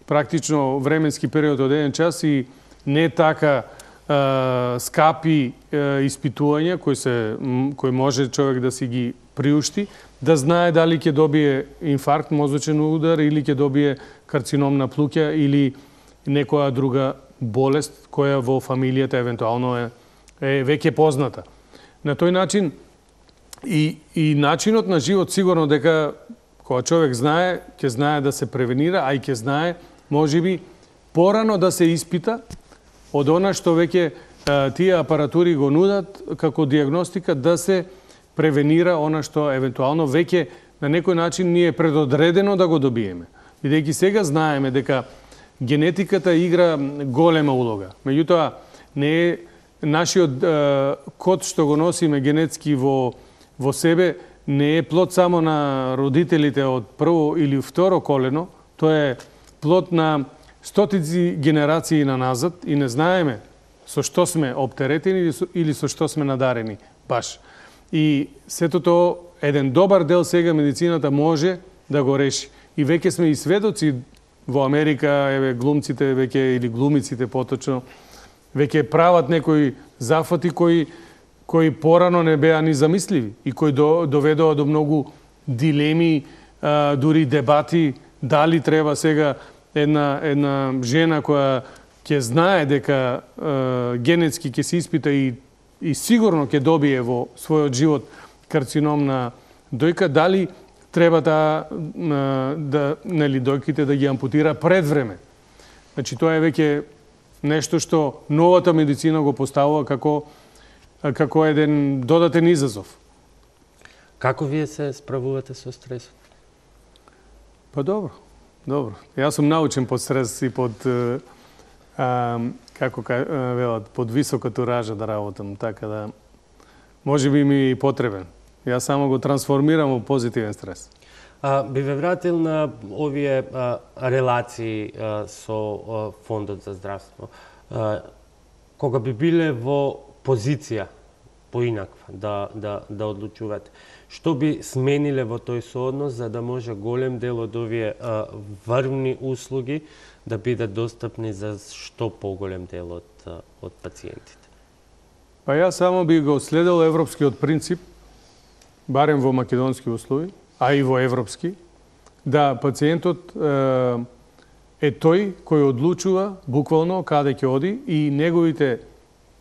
практично временски период од еден час и не така е, скапи е, испитувања кои се кои може човек да си ги приушти, да знае дали ќе добие инфаркт, мозочен удар или ќе добие карцином на плуќа или некоја друга болест која во фамилијата евентуално е, е веќе позната. На тој начин и, и начинот на живот сигурно дека кога човек знае, ќе знае да се превенира, а и ќе знае можеби порано да се испита од она што веќе тие апаратури го нудат како диагностика да се превенира она што евентуално веќе на некој начин ни е предодредено да го добиеме. Бидејќи сега знаеме дека генетиката игра голема улога. Меѓутоа, не е нашиот е, код што го носиме генетски во, во себе, не е плод само на родителите од прво или второ колено, тоа е плод на стотици генерации на назад и не знаеме со што сме оптеретени или со што сме надарени баш. И сето тоа еден добар дел сега медицината може да го реши. И веќе сме и сведоци во Америка, еве глумците веќе или глумиците поточно веќе прават некои зафати кои кои порано не беа ни замисливи и кои до, доведоа до многу дилеми, а, дури дебати дали треба сега една една жена која ќе знае дека а, генетски ќе се испита и и сигурно ќе добие во својот живот карцином на дојка, дали треба да, да нели дојките да ги ампутира пред време. Значи тоа е веќе нешто што новата медицина го поставува како како еден додатен изазов.
Како вие се справувате со стресот?
Па добро, добро. Јас сум научен под стрес и под а, како велат, под висока туража да работам, така да може би ми е потребен. Јас само го трансформирам во позитивен стрес.
А, би ве вратил на овие а, релации а, со а, Фондот за здравство. А, кога би биле во позиција поинаква да, да, да одлучувате, што би смениле во тој сооднос за да може голем дел од овие а, врвни услуги да бидат достапни за што поголем дел од, од пациентите?
Па јас само би го следел европскиот принцип, барем во македонски услови, а и во европски, да пациентот е, е тој кој одлучува буквално каде ќе оди и неговите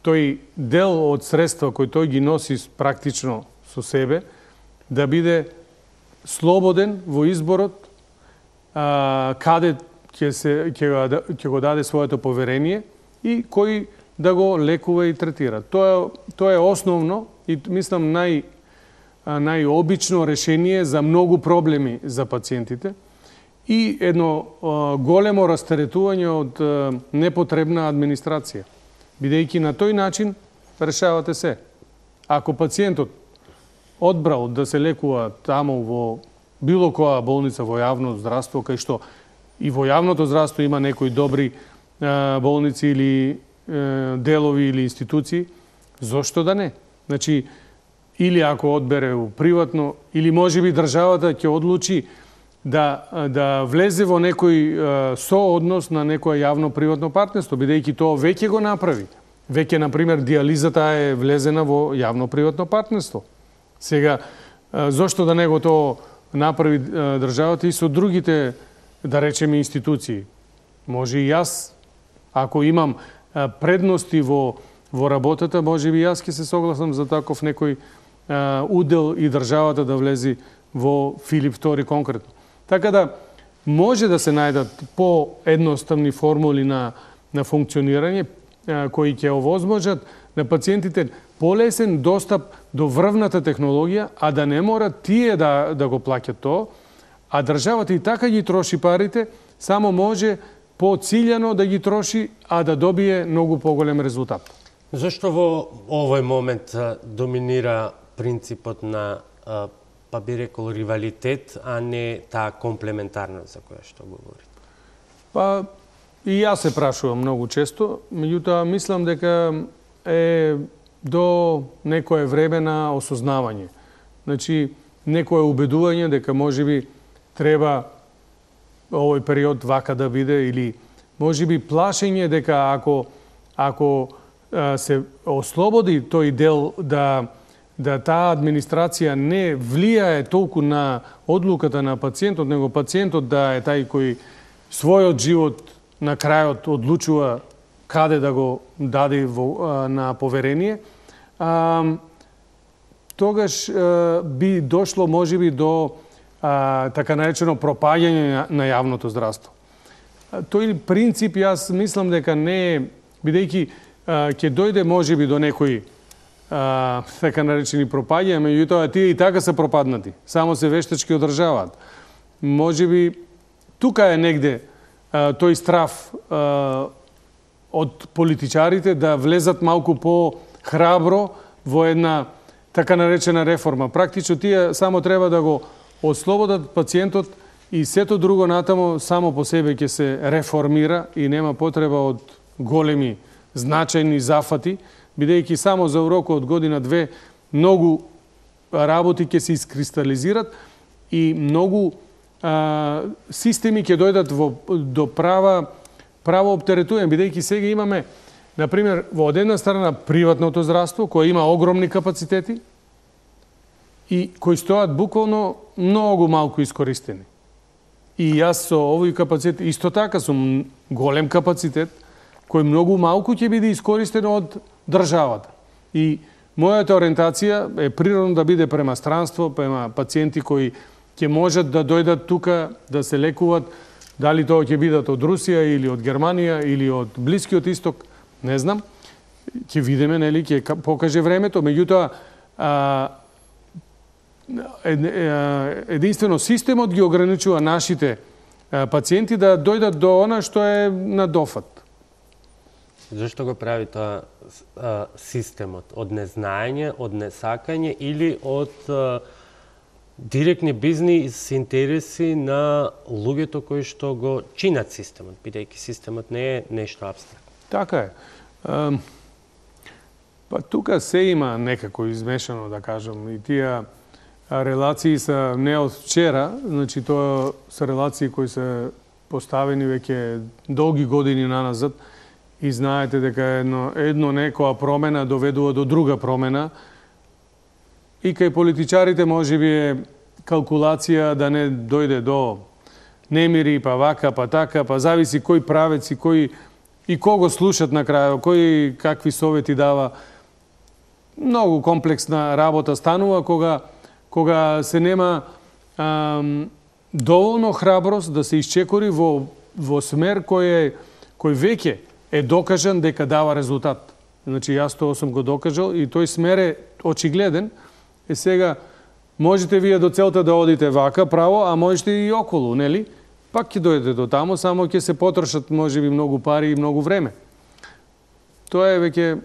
тој дел од средства кој тој ги носи практично со себе, да биде слободен во изборот а, каде ќе се ќе го, ќе го даде своето поверение и кој да го лекува и третира. Тоа тоа е основно и мислам нај најобично решение за многу проблеми за пациентите и едно а, големо растеретување од а, непотребна администрација. Бидејќи на тој начин решавате се. Ако пациентот одбрал да се лекува таму во било која болница во јавно здравство, кај што и во јавното здравство има некои добри а, болници или а, делови или институции, зошто да не? Значи, или ако одбере у приватно, или можеби државата ќе одлучи да, да влезе во некој а, сооднос на некоја јавно-приватно партнерство, бидејќи тоа веќе го направи. Веќе, например, диализата е влезена во јавно-приватно партнерство. Сега, а, зошто да не го тоа направи а, државата и со другите, да речеме, институции? Може и јас, ако имам а, предности во, во работата, може би јас ќе се согласам за таков некој а, удел и државата да влези во Филип втори конкретно. Така да, може да се најдат по-едноставни формули на, на функционирање, а, кои ќе овозможат на пациентите полесен достап до врвната технологија, а да не морат тие да, да го плаќат тоа, а државата и така ги троши парите, само може по-циљано да ги троши, а да добие многу поголем резултат.
Зошто во овој момент а, доминира принципот на а, па би рекол ривалитет, а не таа комплементарност за која што говорите?
Па и јас се прашувам многу често, меѓутоа мислам дека е до некое време на осознавање. Значи, некое убедување дека можеби треба овој период вака да биде или можеби плашење дека ако ако а, се ослободи тој дел да да таа администрација не влијае толку на одлуката на пациентот, него пациентот да е тај кој својот живот на крајот одлучува каде да го даде во, а, на поверение, а, тогаш а, би дошло можеби до а, така наречено пропаѓање на, на јавното здравство. А, тој принцип јас мислам дека не е, бидејќи ќе дојде можеби до некој а, така наречени пропаѓања, меѓутоа тие и така се пропаднати, само се вештачки одржаваат. Можеби тука е негде а, тој страв а, од политичарите да влезат малку по-храбро во една така наречена реформа. Практично тие само треба да го ослободат пациентот и сето друго натамо само по себе ќе се реформира и нема потреба од големи значајни зафати, бидејќи само за урок од година-две многу работи ќе се искристализират и многу а, системи ќе дојдат во, до права право оптеретување, бидејќи сега имаме, например, во од една страна приватното здравство, кој има огромни капацитети и кои стојат буквално многу малку искористени. И јас со овој капацитет, исто така сум голем капацитет, кој многу малку ќе биде искористен од државата. И мојата ориентација е природно да биде према странство, према пациенти кои ќе можат да дојдат тука да се лекуваат, дали тоа ќе бидат од Русија или од Германија или од Блискиот Исток, не знам. Ќе видиме, нели, ќе покаже времето, меѓутоа единствено системот ги ограничува нашите пациенти да дојдат до она што е на дофат.
Зашто го прави тоа системот? Од незнаење, од несакање или од директни бизнис интереси на луѓето кои што го чинат системот, бидејќи системот не е нешто апстрактно? Така
е. Па тука се има некако измешано, да кажам, и тие релации се не од вчера, значи тоа се релации кои се поставени веќе долги години наназад и знаете дека едно, едно некоја промена доведува до друга промена и кај политичарите можеби е калкулација да не дојде до немири, па вака, па така, па зависи кој правец и кој и кого слушат на крај, кој какви совети дава. Многу комплексна работа станува кога кога се нема ам, доволно храброст да се исчекори во во смер кој е кој веќе е докажан дека дава резултат. Значи јас тоа сум го докажал и тој смер е очигледен. Е сега можете вие до целта да одите вака право, а можете и околу, нели? Пак ќе дојдете до таму, само ќе се потрошат можеби многу пари и многу време. Тоа е веќе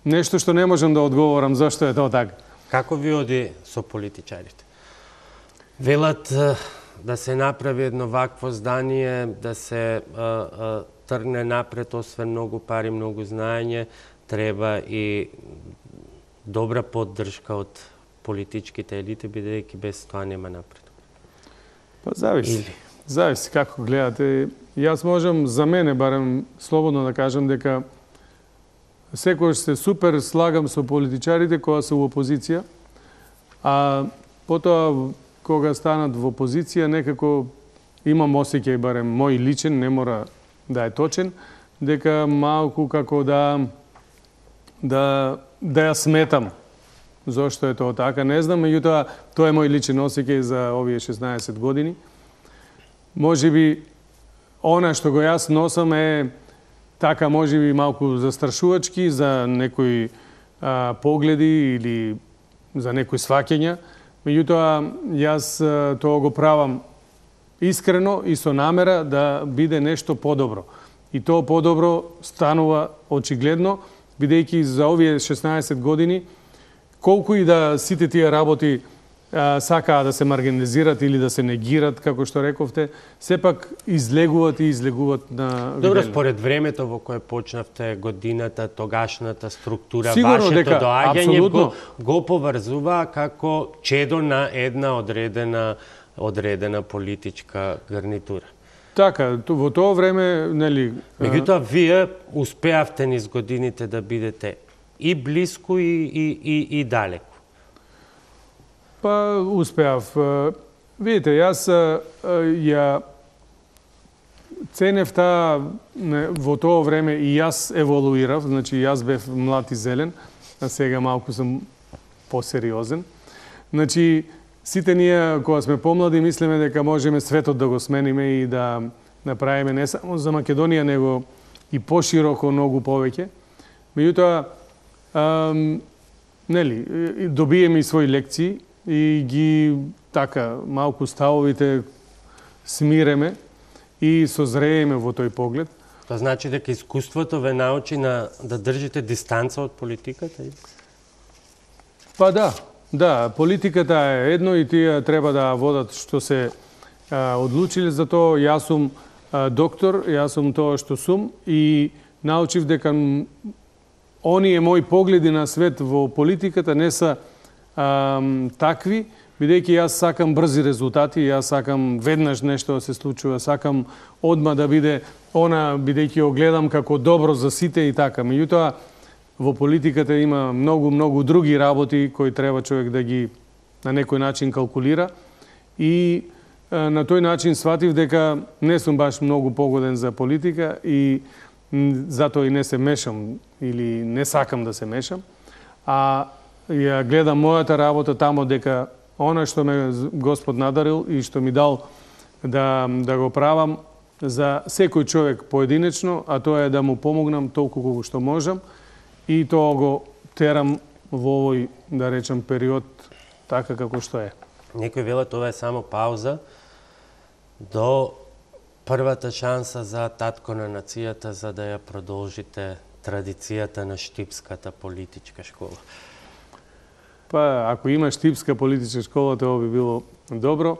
нешто што не можам да одговорам зашто е тоа така.
Како ви оди со политичарите? Велат да се направи едно вакво здание, да се а, а, тргне напред, освен многу пари, многу знаење, треба и добра поддршка од политичките елити, бидејќи без тоа нема напред.
Па зависи. Или... Зависи како гледате. Јас можам за мене барем слободно да кажам дека секојаш се супер слагам со политичарите кога се во опозиција, а потоа кога станат во опозиција некако имам осеќај, барем мој личен, не мора да е точен, дека малку како да да да ја сметам. Зошто е тоа така, не знам, меѓутоа тоа е мој личен осеќај за овие шеснаесет години. Можеби она што го јас носам е така можеби малку застрашувачки за некои а, погледи или за некои сваќања. Меѓутоа јас а, тоа го правам искрено и со намера да биде нешто подобро. И тоа подобро станува очигледно, бидејќи за овие шеснаесет години колку и да сите тие работи а, сакаа да се маргинализират или да се негират, како што рековте, сепак излегуват и излегуват на
Добро, виделно. Според времето во кое почнавте годината, тогашната структура,
Сигурно,
вашето
дека,
доаѓање го, го поврзува како чедо на една одредена одредена политичка гарнитура.
Така, во тоа време, нели...
Меѓутоа, вие успеавте низ годините да бидете и блиску и, и, и, и далеку.
Па, успеав. Видите, јас ја ценев таа во тоа време и јас еволуирав, значи јас бев млад и зелен, а сега малку сум посериозен. Значи, сите ние, кога сме помлади, мислиме дека можеме светот да го смениме и да направиме не само за Македонија, него и пошироко многу повеќе. Меѓутоа, нели, добиеме и своји лекции и ги така малку ставовите смиреме и созрееме во тој поглед.
Тоа значи дека искуството ве научи на да држите дистанца од политиката?
Па да, да, политиката е едно и тие треба да водат што се а, одлучиле за тоа. Јас сум а, доктор, јас сум тоа што сум и научив дека оние мои погледи на свет во политиката не се а, такви, бидејќи јас сакам брзи резултати, јас сакам веднаш нешто да се случува, сакам одма да биде она, бидејќи го гледам како добро за сите и така. Меѓутоа, во политиката има многу, многу други работи кои треба човек да ги на некој начин калкулира и а, на тој начин сватив дека не сум баш многу погоден за политика и затоа и не се мешам или не сакам да се мешам, а ја гледам мојата работа тамо дека она што ме Господ надарил и што ми дал да, да го правам за секој човек поединечно, а тоа е да му помогнам толку колку што можам и тоа го терам во овој, да речем, период така како што е.
Некои велат ова е само пауза до првата шанса за татко на нацијата за да ја продолжите традицијата на штипската политичка школа.
Па, ако има штипска политичка школа, тоа би било добро.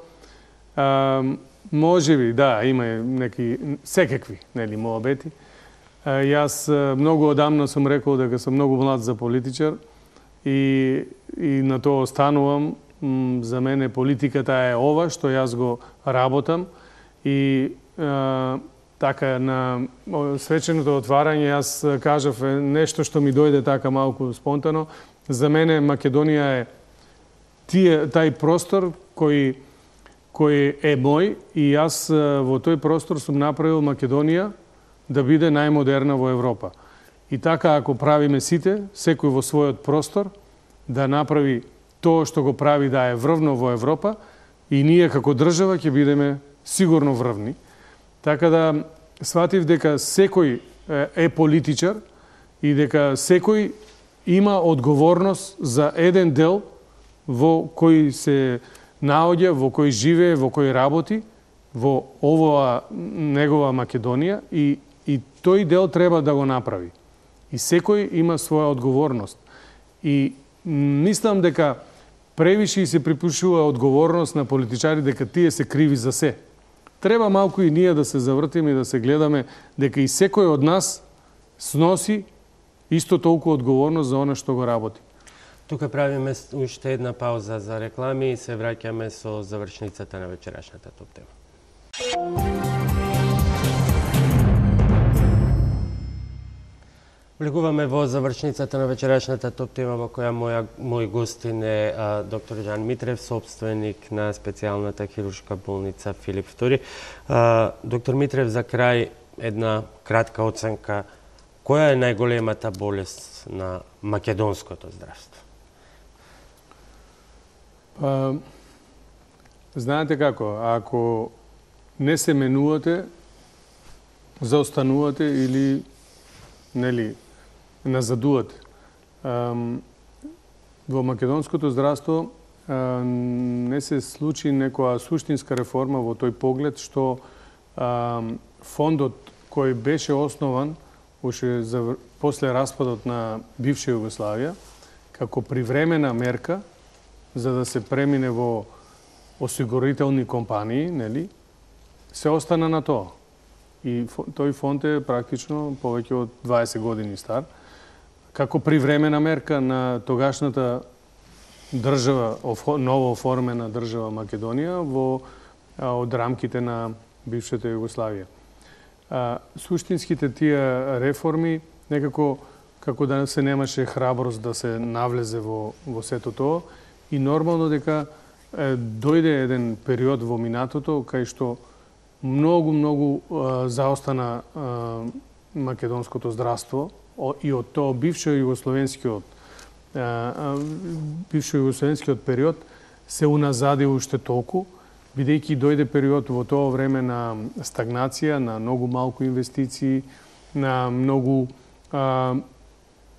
А, може би, да, има неки секакви, нели, моабети. А, јас многу одамна сум рекол дека сум многу млад за политичар и, и на тоа останувам. За мене политиката е ова што јас го работам и а, така на свеченото отварање јас кажав нешто што ми дојде така малку спонтано. За мене Македонија е тие, тај простор кој, кој е мој и јас во тој простор сум направил Македонија да биде најмодерна во Европа. И така ако правиме сите, секој во својот простор, да направи тоа што го прави да е врвно во Европа и ние како држава ќе бидеме сигурно врвни. Така да сватив дека секој е политичар и дека секој има одговорност за еден дел во кој се наоѓа, во кој живее, во кој работи, во оваа негова Македонија и, и тој дел треба да го направи. И секој има своја одговорност. И мислам дека превише се припишува одговорност на политичари дека тие се криви за се. Треба малку и ние да се завртиме и да се гледаме дека и секој од нас сноси исто толку одговорност за она што го работи.
Тука правиме уште една пауза за реклами и се враќаме со завршницата на вечерашната топ тема. Влегуваме во завршницата на вечерашната топ тема во која моја, мој гостин е а, доктор Жан Митрев, собственик на специјалната хируршка болница Филип втори. А, доктор Митрев, за крај една кратка оценка. Која е најголемата болест на македонското здравство?
Па, знаете како, ако не се менувате, заостанувате или нели назадувате. Во македонското здравство не се случи некоја суштинска реформа во тој поглед што фондот кој беше основан уште за, после распадот на бивша Југославија, како привремена мерка за да се премине во осигурителни компании, нели, се остана на тоа. И тој фонд е практично повеќе од дваесет години стар, како привремена мерка на тогашната држава, ново оформена држава Македонија во од рамките на бившата Југославија. А, суштинските тие реформи некако како да се немаше храброст да се навлезе во во сето тоа и нормално дека е, дојде еден период во минатото кај што многу многу а, заостана а, македонското здравство и од тоа бившо југословенскиот бившо југословенскиот период се уназади уште толку, бидејќи дојде период во тоа време на стагнација, на многу малку инвестиции, на многу а,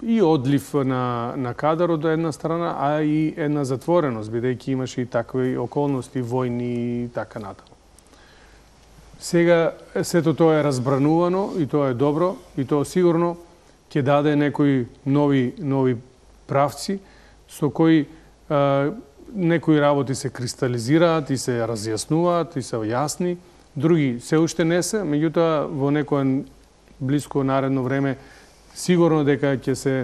и одлив на, на кадар од една страна, а и една затвореност, бидејќи имаше и такви околности, војни и така натаму. Сега сето тоа е разбранувано и тоа е добро и тоа сигурно ќе даде некои нови нови правци со кои а, некои работи се кристализираат и се разјаснуваат и се јасни, други се уште не се, меѓутоа во некој блиско наредно време сигурно дека ќе се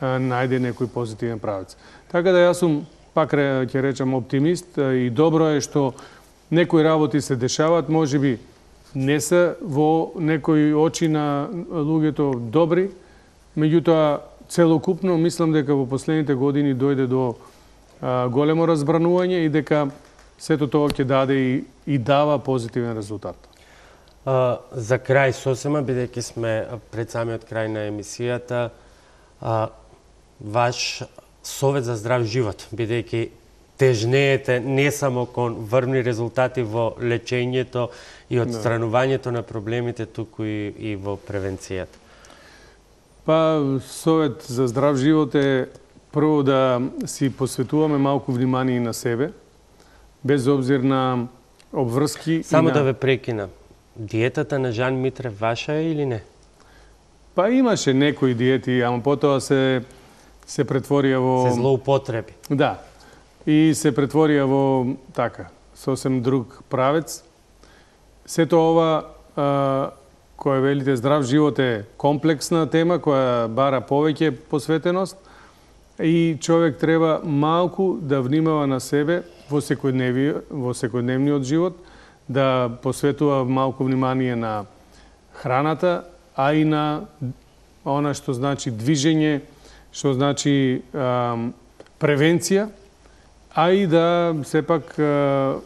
а, најде некој позитивен правец. Така да јас сум пак ќе речам оптимист и добро е што некои работи се дешаваат, можеби не се во некои очи на луѓето добри, меѓутоа целокупно мислам дека во последните години дојде до а, големо разбранување и дека сето тоа ќе даде и, и дава позитивен резултат.
А, за крај сосема, бидејќи сме пред самиот крај на емисијата, а, ваш совет за здрав живот, бидејќи тежнеете не само кон врвни резултати во лечењето и одстранувањето на проблемите, туку и, и во превенцијата.
Па, совет за здрав живот е прво да си посветуваме малку внимание на себе, без обзир на обврски.
Само
и на...
да ве прекина. Диетата на Жан Митрев ваша е или не?
Па имаше некои диети, ама потоа се се претворија во...
Се злоупотреби.
Да. И се претворија во така, сосем друг правец. Сето ова а, која велите здрав живот е комплексна тема која бара повеќе посветеност и човек треба малку да внимава на себе во секојдневни, во секојдневниот живот, да посветува малку внимание на храната, а и на она што значи движење, што значи а, превенција, а и да сепак а,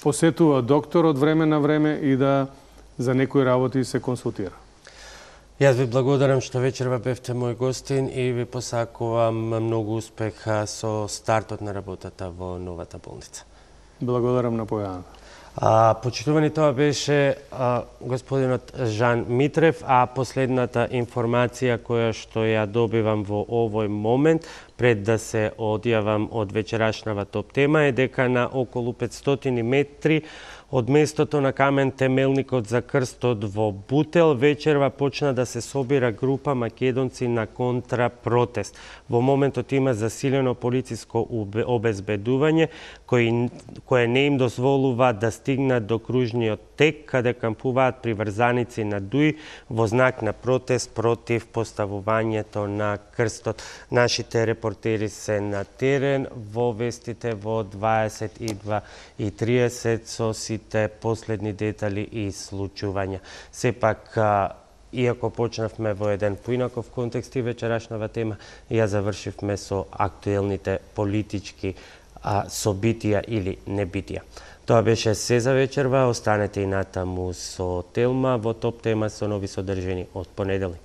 посетува доктор од време на време и да за некои работи се консултира.
Јас ви благодарам што вечерва бевте мој гостин и ви посакувам многу успех со стартот на работата во новата болница.
Благодарам на појавата.
А, почитувани, тоа беше а, господинот Жан Митрев, а последната информација која што ја добивам во овој момент, пред да се одјавам од вечерашнава топ тема, е дека на околу петстотини метри од местото на камен темелникот за крстот во Бутел вечерва почна да се собира група македонци на контрапротест. Во моментот има засилено полициско обезбедување кој, кое не им дозволува да стигнат до кружниот тек, каде кампуваат приврзаници на ДУИ во знак на протест против поставувањето на крстот. Нашите репортери се на терен во вестите во дваесет и два и триесет со сите последни детали и случувања. Сепак, иако почнавме во еден поинаков контекст и вечерашнава тема, ја завршивме со актуелните политички а, собитија или небитија. Тоа беше се за вечерва. Останете и натаму со Телма во топ тема со нови содржини од понеделник.